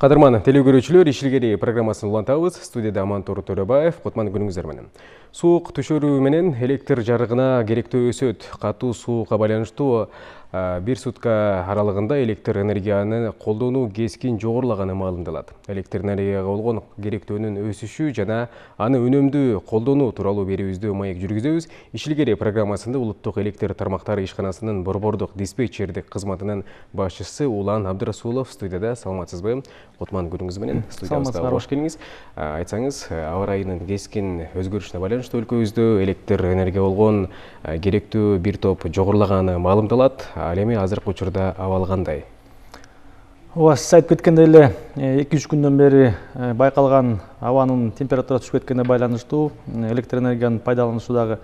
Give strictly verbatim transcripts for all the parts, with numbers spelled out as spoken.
Кадырман теле көрүүчүлөр, Ишилгери программасын улантабыз. Студияда Амантур Төрөбаев. Кутман күнүңүздөр менен. Суук түшөрүү менен электр жарыгына керектөө өсөт. Катуу суукка байланыштуу бир сутка аралыгында электр энергияны колдонуу кескин жогорулаганы маалымдалат. Электр энергияга болгон керектөөнүн өсүшү жана аны үнөмдүү колдонуу тууралуу берүүбүздү маек жүргүзөбүз. Ишилгери программасында улуттук электр тармактары ишканасынын борбордук диспетчердик кызматынын башчысы Улан Абдырасулов студияда. Саламатсызбы? Кутман күнүңүз менен студиябызга кош келиңиз. Айтсаңыз, аба ырайынын кескин өзгөрүшүнө байланыштуу өлкөбүздө электр энергия болгон керектүү бир топ жогорулаганы маалымдалат. Ал эми азыркы учурда абал кандай? Ооба, сиз айтып кеткендей эле эки үч күндөн бери байкалган абанын температурасы түшүп кеткенине байланыштуу электр энергиянын пайдаланушу дагы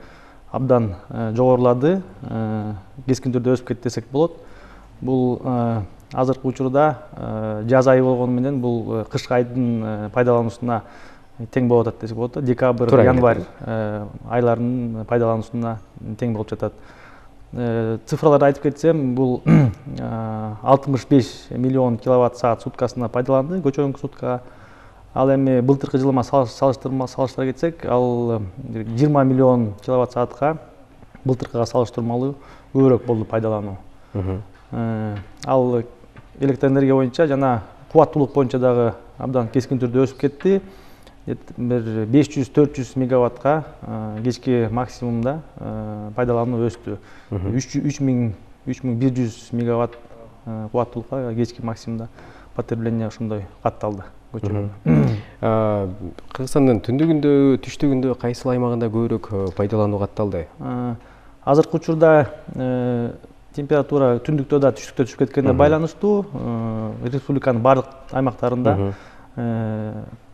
абдан жогорулады, кескин түрдө өсүп кетти десек болот. Бул азыркы учурда жаз айы болгону менен бул кышкы айдын пайдалануусуна тең болуп атат десек болот. Декабрь, январь айларынын пайдалануусуна тең болуп жатат. Цифраларды айтып кетсем, бул алтымыш беш миллион киловатт саат суткасына пайдаланды, көчөрүмкү суткага. Ал эми былтыркы жылыма салыштыра кетсек, ал жыйырма миллион киловатт саатка былтыркыга салыштырмалуу көбүрөөк болду пайдалануу. Ал электр энергия боюнча жана кубаттуулук боюнча дагы абдан кескин түрдө өсүп кетти. Бир беш жүз төрт жүз мегаваттка кечки максимумда пайдалануу өстү. үч миң бир жүз мегаватт кубаттуулукка кечки максимумда потребление ошондой катталды. Кыргызстандын түндүгүндө, түштүгүндө кайсыл аймагында көбүрөөк пайдалануу катталды? Азыркы учурда температура түндүктө да түштүктө түшүп кеткенине байланыштуу республиканын бардык аймактарында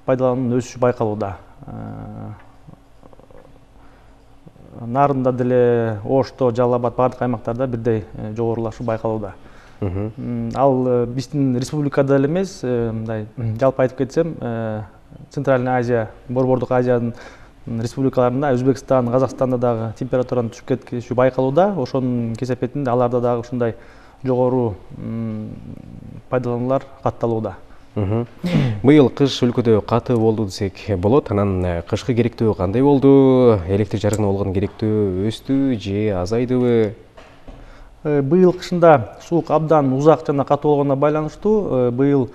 пайдалануунун өсүшү байкалууда. Нарында деле, Ошто, Жалал Абад бардык аймактарда бирдей жогорулашуу байкалууда. Ал биздин республикада эле эмес, мындай жалпы айтып кетсем, Центральный Азия, Борбордук Азиянын республикаларында, Өзбекстан, Казакстанда дагы температуранын түшүп кетиши байкалууда. Ошонун кесепетинде аларда дагы ушундай жогору пайдалануулар катталууда. Быйыл кыш өлкөдө катуу болду десек болот. Анан кышкы керектөө кандай болду? Электр жарыгына болгон керектөө өстү же азайдыбы? Быйыл кышында суук абдан узак жана катуу болгонуна байланыштуу быйыл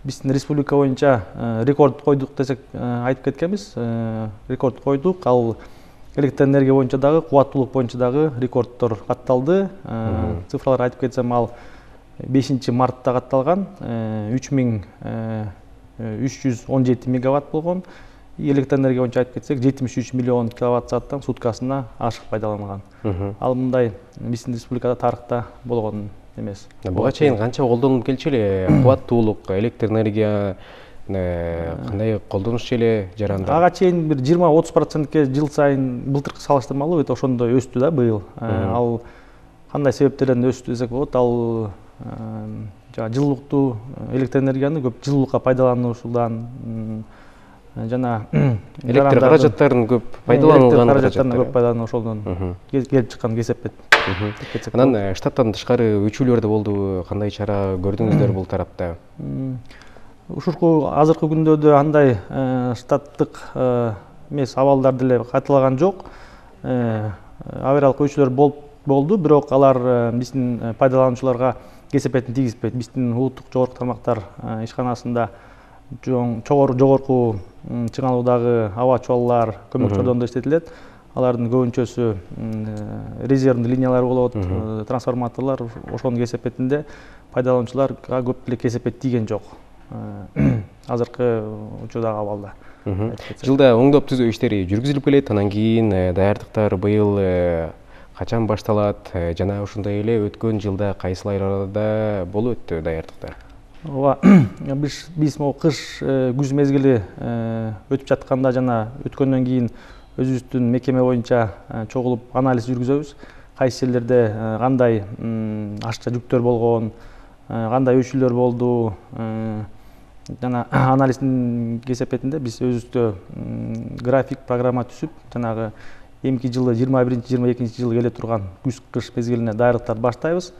биздин республика боюнча рекорд койдук десек айтып кеткенбиз. Рекорд койдук. Ал электр энергия боюнча дагы, кубаттуулук боюнча дагы рекорддор катталды. Цифралар айтып кетсем, ал бешинчи мартта катталган, үч миң үч жүз он жети мегаватт болгон. Электр энергия боюнча айтып кетсек, жетимиш үч миллион киловатт сааттан суткасына ашык пайдаланган. Ал мындай биздин республикада тарыхта болгон эмес. Буга чейин канча колдонуп келчү эле? Кубаттуулук, электр энергия кандай колдонуш эле жаранды? Ага чейин бир жыйырма отуз процентке жыл сайын былтыркы салыштырмалуу ошондой өстү да быйыл. Ал кандай себептерден өстү десек болот? Ал жылуулукту, электр энергияны көп жылуулукка пайдалануусудан жана электр каражаттарын көп пайдаланылган каражаттарын көп пайдалануу ошолдон келип чыккан кесепет. Анан штаттан тышкары өчүүлөр да болду. Кандай чара көрдүңүздөр бул тарапта? Ушурку азыркы күндөрдө андай штаттык эмес абалдар деле кайталаган жок. Авариялык өчүүлөр болду, бирок алар биздин пайдалануучуларга кесепетин тийгизбейт. Биздин улуттук жогорку тармактар ишканасында жогорку чыңалуудагы аба чуаллар, көмөк чордондо иштетилет. Алардын көбүнчөсү резервный линиялар болот, трансформаторлор. Ошонун кесепетинде пайдалануучуларга көп деле кесепет тийген жок азыркы учурдагы абалда. Жылда оңдоп түзөө иштери жүргүзүлүп келет. Анан кийин даярдыктар быйыл качан башталат жана ошондой эле өткөн жылда кайсыл айларда болуп өттү даярдыктар? Ооба, биз могу кыш, күз мезгили өтүп жатканда жана өткөндөн кийин өзүбүздүн мекеме боюнча чогулуп анализ жүргүзөбүз. Кайсы жерлерде кандай ашча жүктөр болгон, кандай өчүүлөр болду, жана анализдин кесепетинде биз өзүбүздө график, программа түзүп, жанагы эмки жылы жыйырма биринчи жыйырма экинчи жылы келе турган күз кыш мезгилине даярдыктарды баштайбыз.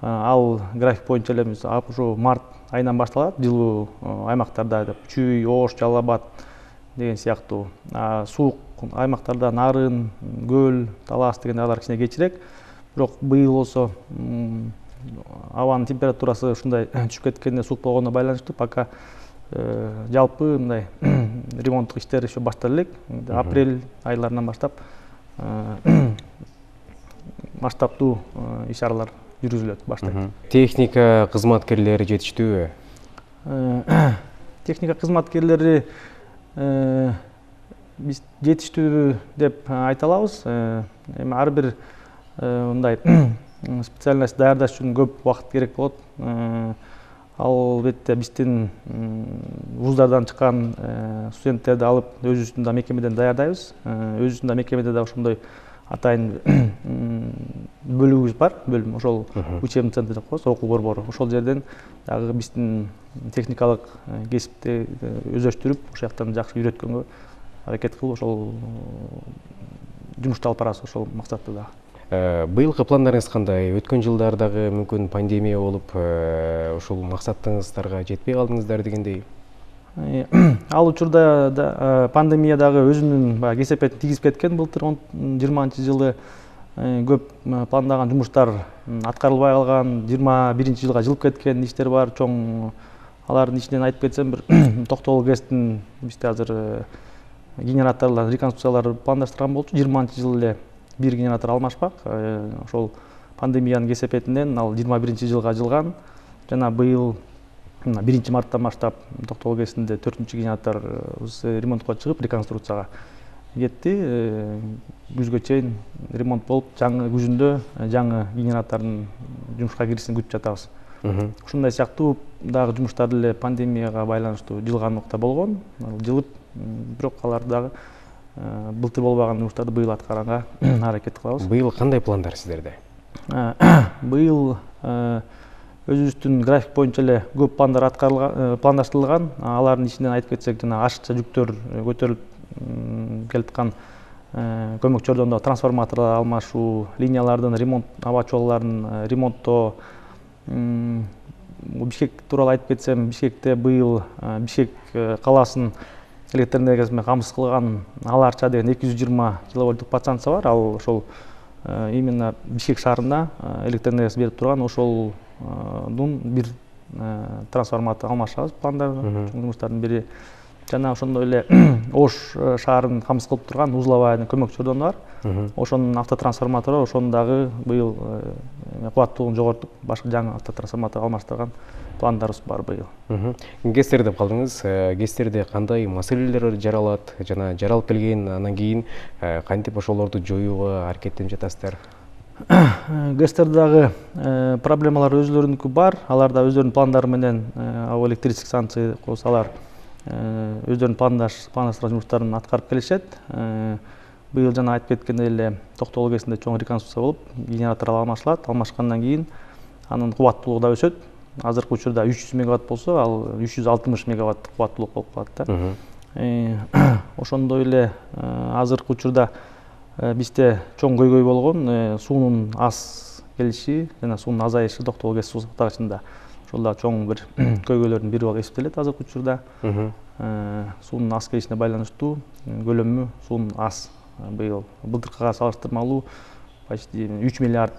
ал график боюнча эле биз ушу март айынан башталат, жылуу аймактарда деп Чүй, Ош, Жалал Абад деген сыяктуу. Суук аймактарда Нарын, Көл, Талас дегендейлер кичине кечирээк. Бирок быйыл болсо абанын температурасы ушундай түшүп кеткенине, суук болгонуна байланыштуу пока жалпы мындай ремонттук иштер еще баштала элек. Апрель айларынан баштап масштабтуу иш-чаралар жүргүзүлөт, баштайт. Техника кызматкерлери жетиштүүбү? Техника кызматкерлери биз жетиштүү деп айта алабыз. Эми ар бир мындай специальность даярдаш үчүн көп убакыт керек болот. Албетте биздин вуздардан чыккан студенттерди алып өзүбүздүн да мекемеден даярдайбыз. Өзүбүздүн да мекемеде да ошондой атайын бөлүгүбүз бар, бөлүм, ошол учебный центр деп коебуз, окуу борбору. Ошол жерден дагы биздин техникалык кесипти өздөштүрүп, ошол жактан жакшы үйрөткөнгө аракет кылып, ошол жумушту алып барабыз, ошол максатта дагы. Быйылкы пландарыңыз кандай? Өткөн жылдардагы мүмкүн пандемия болуп, ушул максатыңыздарга жетпей калдыңыздар дегендей. Ал учурда пандемия дагы өзүнүн баягы кесепетин тийгизип кеткен. Былтыр жыйырманчы жылы көп пландаган жумуштар аткарылбай калган, жыйырма биринчи жылга жылып кеткен иштер бар. Чоң алардын ичинен айтып кетсем, бир Токтогул ГЭСтин бизде азыр генераторлор, реконструкциялар пландаштырган болчу. жыйырманчы жылы эле бир генератор алмашпак. Ошол пандемиянын кесепетинен ал жыйырма биринчи жылга жылган. Жана быйыл биринчи марттан баштап Токтогул ГЭСинде төртүнчү генератор ремонтко чыгып, реконструкцияга кетти. Күзгө чейин ремонт болуп, жаңы күзүндө жаңы генератордун жумушка киришин күтүп жатабыз. Ушундай сыяктуу дагы жумуштар эле пандемияга байланыштуу жылган убакта болгон. Жылып, бирок аларды дагы былтыр болбаган жумуштарды быйыл аткаганга аракет кылабыз. Быйыл кандай пландар сиздерде? Быйыл өзүбүздүн график боюнча эле көп пландар аткарылган, пландаштырылган. Алардын ичинен айтып кетсек, жана ашыкча жүктөр көтөрүлүп келаткан көмөк чордондо трансформаторлор алмашуу, линиялардын ремонт, аба чуалларын ремонттоо. Бишкек тууралуу айтып кетсем, Бишкекте быйыл Бишкек калаасын электр энергиясы менен камсыз кылган Ала Арча деген эки жүз жыйырма киловольттук подстанция бар. Ал ошол именно Бишкек шаарына электр энергиясын берип турган, ошолдун бир трансформатор алмашабыз пландарды, жумуштардын бири. Жана ошондой эле Ош шаарын камсыз кылып турган Узловая көмөк чордону бар. Ошонун автотрансформатору, ошону дагы быйыл кубаттуулугун жогортуп, башка жаңы автотрансформатор алмаштырган пландарыбыз бар быйыл. ГЭСтер деп калдыңыз. ГЭСтерде кандай маселелер жаралат жана жаралып келген, анан кийин кантип ошолорду жоюуга аракеттенип жатасыздар? ГЭСтерде дагы проблемалар өзлөрүнүкү бар. Алар да өздөрүнүн пландары менен ал электрический станция деп коебуз, алар өздөрүнүн пландаштырган жумуштарын аткарып келишет. Быйыл жана айтып кеткендей эле Токтогул ГЭСинде чоң реконструкция болуп, генераторлор алмашылат. Алмашкандан кийин анын кубаттуулугу да өсөт. Азыркы учурда үч жүз мегаватт болсо, ал үч жүз алтымыш мегаватт кубаттуулук болуп калат да. Ошондой эле азыркы учурда бизде чоң көйгөй болгон суунун аз келиши жана суунун азайышы Токтогул ГЭС суу сактагычында. Ошол да чоң бир көйгөйлөрдүн бири болуп эсептелет азыркы учурда. Суунун аз келишине байланыштуу көлөмү суунун аз. Быйыл былтыркыга салыштырмалуу почти үч миллиард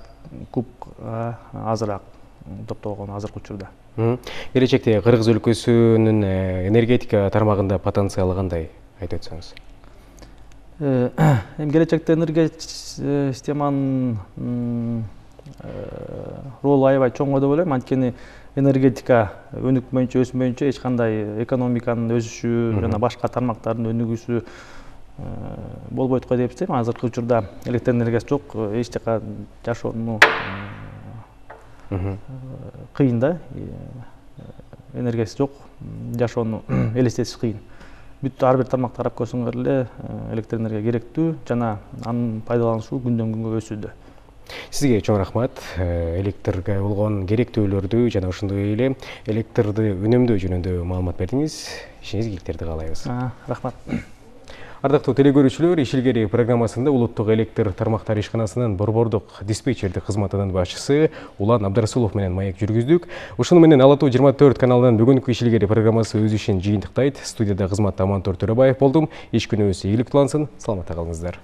кубка азыраак топтолгон азыркы учурда. Келечекте Кыргыз өлкөсүнүн энергетика тармагында потенциалы кандай айтып өтсөңүз? Эми келечекте энергетика системанын ролу аябай чоң деп ойлойм. Анткени энергетика өнүкмөйүнчө, өсмөйүнчө эч кандай экономиканын өсүшү жана башка тармактардын өнүгүүсү болбойт го деп эсептейм. Азыркы учурда электр энергиясы жок, эч жака жашоону кыйын да. Энергиясы жок, жашоону элестетиш кыйын. Бүт ар бир тармакты карап көрсөңөр эле электр энергия керектүү жана анын пайдаланушу күндөн күнгө өсүүдө. Сизге чоң рахмат. Электрге болгон керектүүлөрдү жана ошондой эле электрди үнөмдөө жөнүндө маалымат бердиңиз. Ишиңиз ийгиликтерди каалайбыз. Рахмат. Ардактуу телекөрүүчүлөр, Ишилгери программасында улуттук электр тармактары ишканасынын борбордук диспетчердик кызматынын башчысы Улан Абдрасулов менен маек жүргүздүк. Ушуну менен Ала Тоо жыйырма төрт каналынын бүгүнкү Ишилгери программасы өз ишин жыйынтыктайт. Студияда кызматта Амантор Төрөбаев болдум. Иш күнүбүз ийгиликтүү улансын. Саламатта калыңыздар.